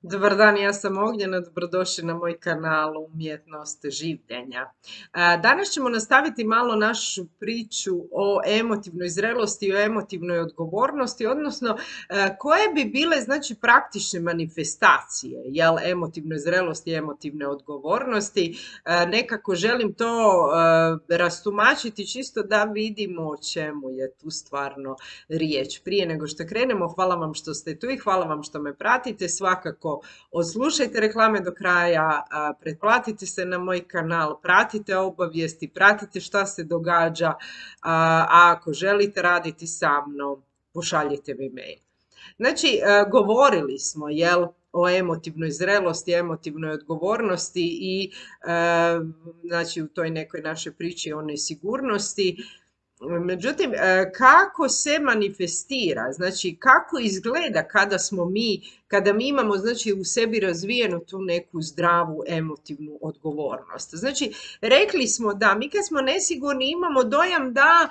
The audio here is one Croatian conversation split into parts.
Dobar dan, ja sam Ognjena, dobrodošli na moj kanal Umjetnost življenja. Danas ćemo nastaviti malo našu priču o emotivnoj zrelosti i o emotivnoj odgovornosti, odnosno koje bi bile znači praktične manifestacije emotivne zrelosti i emotivne odgovornosti. Nekako želim to rastumačiti čisto da vidimo o čemu je tu stvarno riječ. Prije nego što krenemo, hvala vam što ste tu i hvala vam što me pratite. Svakako odslušajte reklame do kraja, pretplatite se na moj kanal, pratite obavijesti, pratite šta se događa, a ako želite raditi sa mnom, pošaljite mi mail. Znači, govorili smo, o emotivnoj zrelosti, emotivnoj odgovornosti i znači u toj nekoj našoj priči o nesigurnosti. Međutim, kako se manifestira, znači kako izgleda kada mi imamo znači u sebi razvijenu tu neku zdravu emotivnu odgovornost. Znači, rekli smo da mi kad smo nesigurni imamo dojam da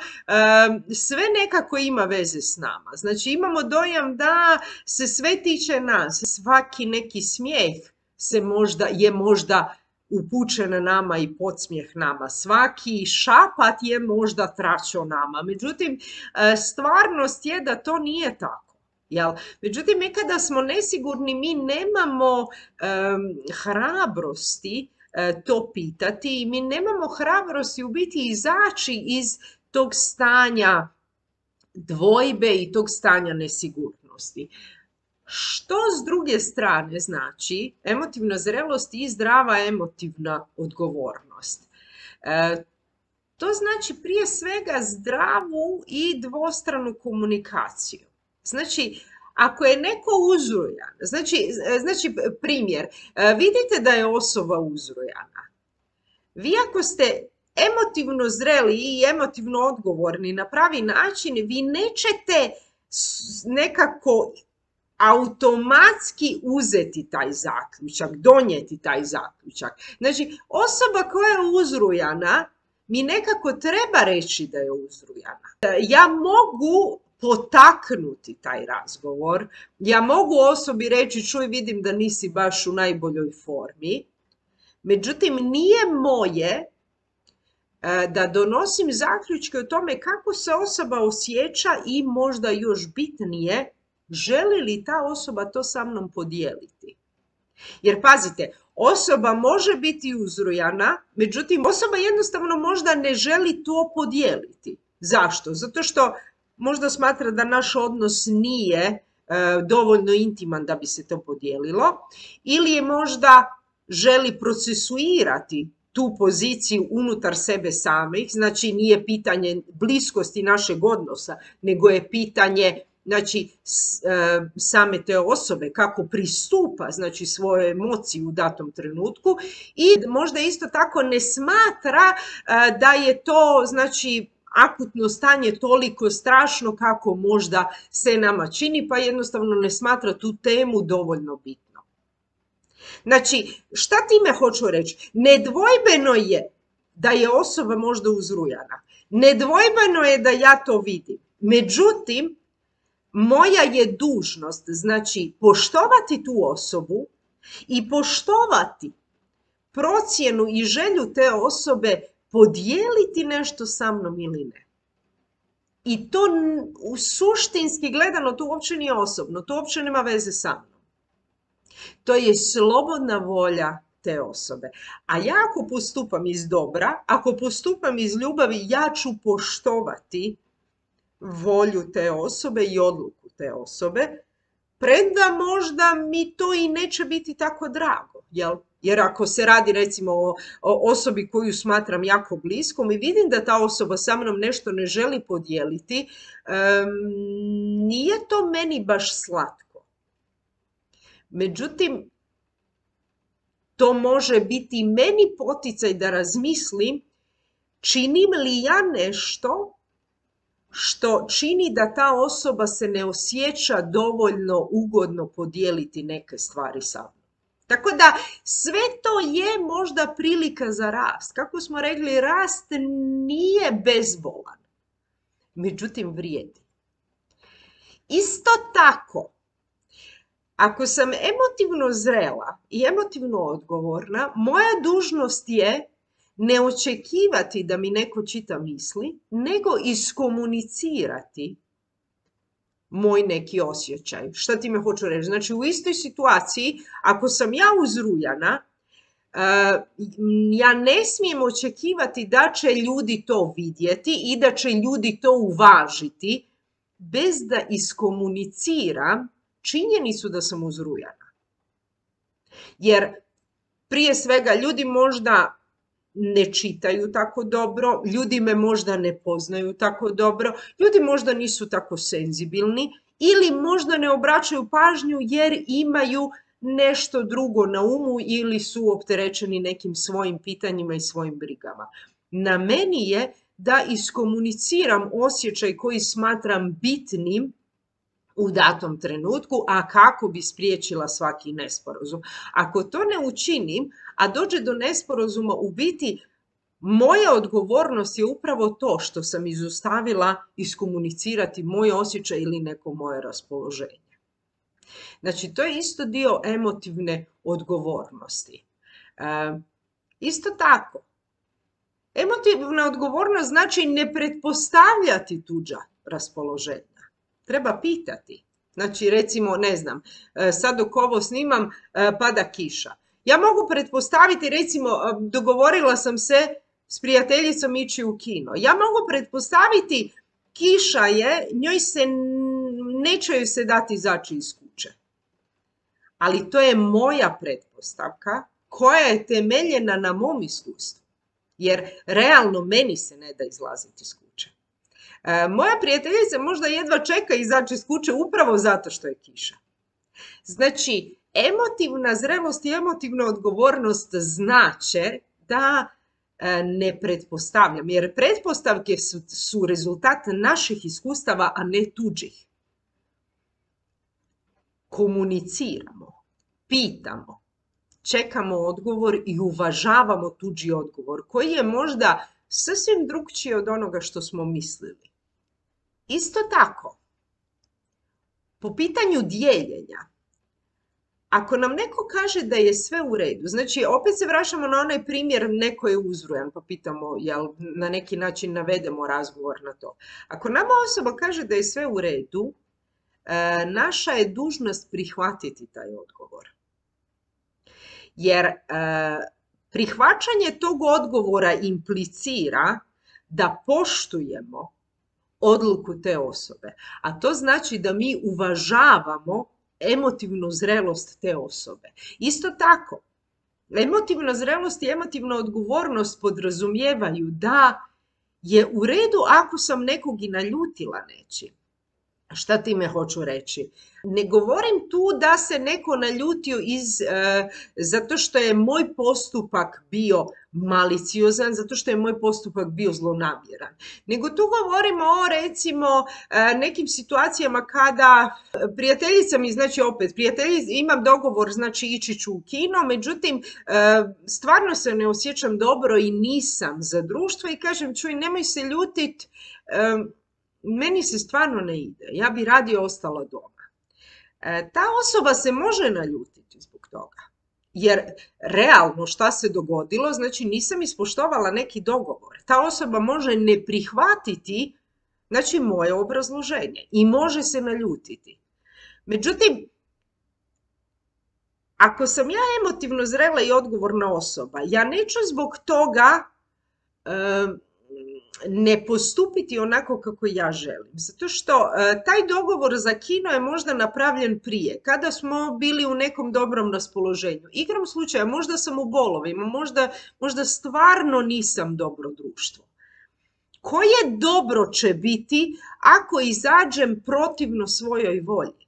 sve nekako ima veze s nama. Znači, imamo dojam da se sve tiče nas, svaki neki smijeh je možda upućen nama i podsmijeh nama. Svaki šapat je možda tračo nama. Međutim, stvarnost je da to nije tako. Međutim, mi kada smo nesigurni, mi nemamo hrabrosti to pitati i mi nemamo hrabrosti u biti izaći iz tog stanja dvojbe i tog stanja nesigurnosti. Što s druge strane znači emotivna zrelost i zdrava emotivna odgovornost? To znači prije svega zdravu i dvostranu komunikaciju. Znači, ako je neko uzrujan, znači primjer, vidite da je osoba uzrujana. Vi ako ste emotivno zreli i emotivno odgovorni na pravi način, vi nećete nekako automatski uzeti taj zaključak, donijeti taj zaključak. Znači, osoba koja je uzrujana, mi nekako treba reći da je uzrujana. Ja mogu potaknuti taj razgovor, ja mogu osobi reći, čuj, vidim da nisi baš u najboljoj formi, međutim, nije moje da donosim zaključke o tome kako se osoba osjeća i možda još bitnije, želi li ta osoba to sa mnom podijeliti? Jer pazite, osoba može biti uzrujana, međutim osoba jednostavno možda ne želi to podijeliti. Zašto? Zato što možda smatra da naš odnos nije dovoljno intiman da bi se to podijelilo, ili je možda želi procesuirati tu poziciju unutar sebe samih, znači nije pitanje bliskosti našeg odnosa, nego je pitanje znači same te osobe kako pristupa znači svojoj emociji u datom trenutku i možda isto tako ne smatra da je to znači akutno stanje toliko strašno kako možda se nama čini, pa jednostavno ne smatra tu temu dovoljno bitno. Znači, šta time hoću reći? Nedvojbeno je da je osoba možda uzrujana. Nedvojbeno je da ja to vidim. Međutim, moja je dužnost, znači, poštovati tu osobu i poštovati procjenu i želju te osobe podijeliti nešto sa mnom ili ne. I to suštinski gledano, to uopće nije osobno, to uopće nema veze sa mnom. To je slobodna volja te osobe. A ja ako postupam iz dobra, ako postupam iz ljubavi, ja ću poštovati volju te osobe i odluku te osobe, premda možda mi to i neće biti tako drago, Jer ako se radi recimo o osobi koju smatram jako bliskom i vidim da ta osoba sa mnom nešto ne želi podijeliti, nije to meni baš slatko. Međutim, to može biti meni poticaj da razmislim činim li ja nešto što čini da ta osoba se ne osjeća dovoljno ugodno podijeliti neke stvari sa mnom. Tako da sve to je možda prilika za rast. Kako smo rekli, rast nije bezbolan, međutim vrijedi. Isto tako, Ako sam emotivno zrela i emotivno odgovorna, moja dužnost je ne očekivati da mi neko čita misli, nego iskomunicirati moj neki osjećaj. Šta time hoću reći? Znači, u istoj situaciji, ako sam ja uzrujana, ja ne smijem očekivati da će ljudi to vidjeti i da će ljudi to uvažiti bez da iskomuniciram činjenicu da sam uzrujana. Jer prije svega ljudi možda ne čitaju tako dobro, ljudi me možda ne poznaju tako dobro, ljudi možda nisu tako senzibilni ili možda ne obraćaju pažnju jer imaju nešto drugo na umu ili su opterećeni nekim svojim pitanjima i svojim brigama. Na meni je da iskomuniciram osjećaj koji smatram bitnim u datom trenutku, a kako bi spriječila svaki nesporazum. Ako to ne učinim, a dođe do nesporazuma, u biti moja odgovornost je upravo to što sam izostavila iskomunicirati moj osjećaj ili neko moje raspoloženje. Znači, to je isto dio emotivne odgovornosti. Isto tako, emotivna odgovornost znači ne pretpostavljati tuđa raspoloženja. Treba pitati. Znači, recimo, ne znam, sad dok ovo snimam, pada kiša. Ja mogu pretpostaviti, recimo, dogovorila sam se s prijateljicom ići u kino. Ja mogu pretpostaviti, kiša je, neće joj se dati izaći iz kuće. Ali to je moja pretpostavka koja je temeljena na mom iskustvu. Jer realno meni se ne da izlaziti iz kuće. Moja prijateljica možda jedva čeka izaći iz kuće upravo zato što je kiša. Znači, emotivna zrelost i emotivna odgovornost znače da ne pretpostavljam, jer pretpostavke su rezultat naših iskustava, a ne tuđih. Komuniciramo, pitamo, čekamo odgovor i uvažavamo tuđi odgovor, koji je možda sasvim drukčiji od onoga što smo mislili. Isto tako, po pitanju dijeljenja, ako nam neko kaže da je sve u redu, znači opet se vraćamo na onaj primjer, neko je uzrujan, pa pitamo, jel na neki način navedemo razgovor na to. Ako nama osoba kaže da je sve u redu, naša je dužnost prihvatiti taj odgovor. Jer prihvaćanje tog odgovora implicira da poštujemo odluku te osobe. A to znači da mi uvažavamo emotivnu zrelost te osobe. Isto tako, emotivna zrelost i emotivna odgovornost podrazumijevaju da je u redu ako sam nekog i naljutila nečim. Šta time hoću reći? Ne govorim tu da se neko naljutio zato što je moj postupak bio maliciozan, zato što je moj postupak bio zlonamjeran. Nego tu govorimo o, recimo, nekim situacijama kada prijateljica mi, znači opet, imam dogovor, znači ići ću u kino, međutim, stvarno se ne osjećam dobro i nisam za društvo i kažem, čuj, nemoj se ljutit, meni se stvarno ne ide, ja bi radije ostala doma. Ta osoba se može naljutiti zbog toga, jer realno šta se dogodilo, znači nisam ispoštovala neki dogovor. Ta osoba može ne prihvatiti, znači, moje obrazloženje i može se naljutiti. Međutim, ako sam ja emotivno zrela i odgovorna osoba, ja neću zbog toga ne postupiti onako kako ja želim. Zato što taj dogovor za kino je možda napravljen prije, kada smo bili u nekom dobrom raspoloženju. Igrom slučaja, možda sam u bolovima, možda stvarno nisam dobro društvo. Koje dobro će biti ako izađem protivno svojoj volji?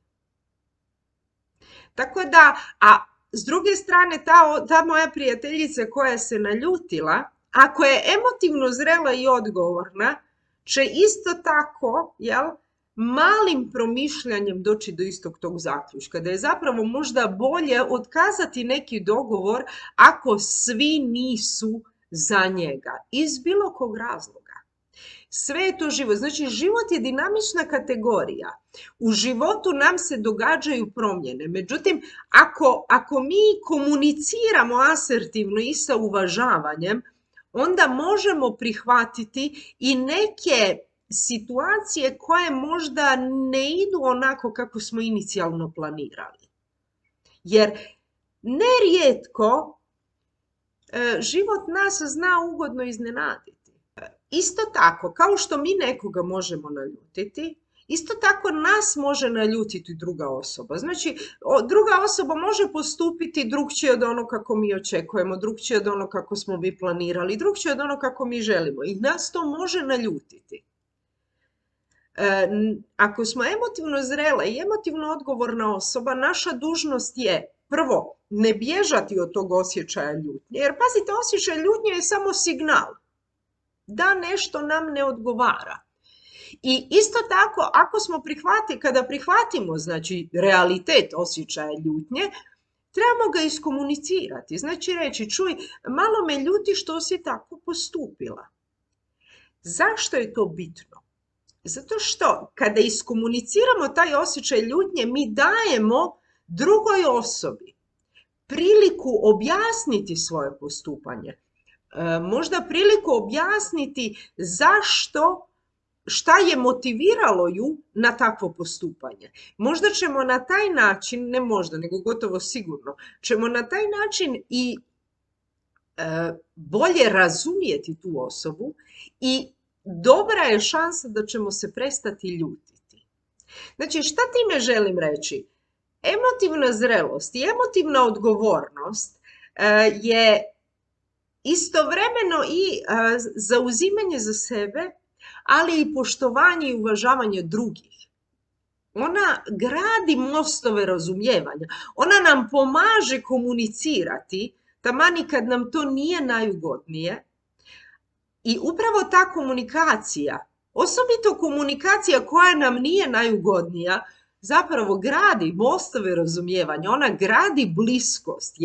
Tako da, a s druge strane, ta moja prijateljica koja se naljutila, ako je emotivno zrela i odgovorna, će isto tako, malim promišljanjem doći do istog tog zaključka, da je zapravo možda bolje otkazati neki dogovor ako svi nisu za njega, iz bilo kog razloga. Sve je to život. Znači, život je dinamična kategorija. U životu nam se događaju promjene. Međutim, ako mi komuniciramo asertivno i sa uvažavanjem, onda možemo prihvatiti i neke situacije koje možda ne idu onako kako smo inicijalno planirali. Jer nerijetko život nas zna ugodno iznenaditi. Isto tako, kao što mi nekoga možemo naljutiti, isto tako nas može naljutiti druga osoba. Znači, druga osoba može postupiti drugčije od ono kako mi očekujemo, drugčije od ono kako smo mi planirali, drugčije od ono kako mi želimo. I nas to može naljutiti. Ako smo emotivno zrela i emotivno odgovorna osoba, naša dužnost je prvo ne bježati od tog osjećaja ljutnje. Jer pazite, osjećaj ljutnje je samo signal da nešto nam ne odgovara. I isto tako, kada prihvatimo, znači, realitet osjećaja ljutnje, trebamo ga iskomunicirati. Znači reći, čuj, malo me ljuti što si tako postupila. Zašto je to bitno? Zato što kada iskomuniciramo taj osjećaj ljutnje, mi dajemo drugoj osobi priliku objasniti svoje postupanje. Možda priliku objasniti šta je motiviralo ju na takvo postupanje. Možda ćemo na taj način, ne možda, nego gotovo sigurno, ćemo na taj način i bolje razumjeti tu osobu i dobra je šansa da ćemo se prestati ljutiti. Znači, šta time želim reći? Emotivna zrelost i emotivna odgovornost je istovremeno i zauzimanje za sebe, ali i poštovanje i uvažavanje drugih. Ona gradi mostove razumijevanja. Ona nam pomaže komunicirati, taman i kad nam to nije najugodnije. I upravo ta komunikacija, osobito komunikacija koja nam nije najugodnija, zapravo gradi mostove razumijevanja, ona gradi bliskost,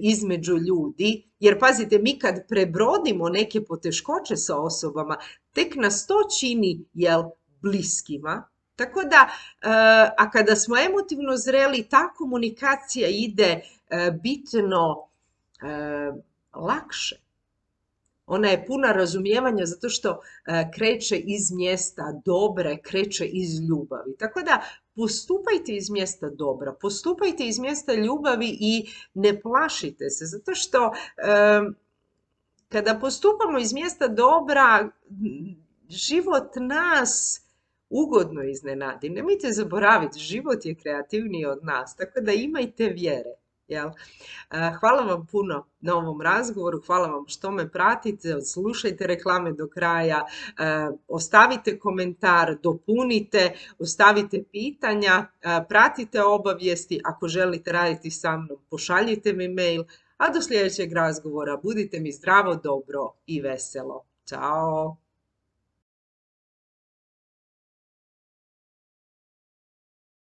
između ljudi, jer pazite, mi kad prebrodimo neke poteškoće sa osobama, tek nas to čini, bliskima. Tako da, a kada smo emotivno zreli, ta komunikacija ide bitno lakše. Ona je puna razumijevanja zato što kreće iz mjesta dobra, kreće iz ljubavi. Tako da postupajte iz mjesta dobra, postupajte iz mjesta ljubavi i ne plašite se. Zato što kada postupamo iz mjesta dobra, život nas ugodno iznenadi. Nemojte zaboraviti, život je kreativniji od nas, tako da imajte vjere. Hvala vam puno na ovom razgovoru, hvala vam što me pratite, slušajte reklame do kraja, ostavite komentar, dopunite, ostavite pitanja, pratite obavijesti, ako želite raditi sa mnom, pošaljite mi mail, a do sljedećeg razgovora budite mi zdravo, dobro i veselo. Ćao!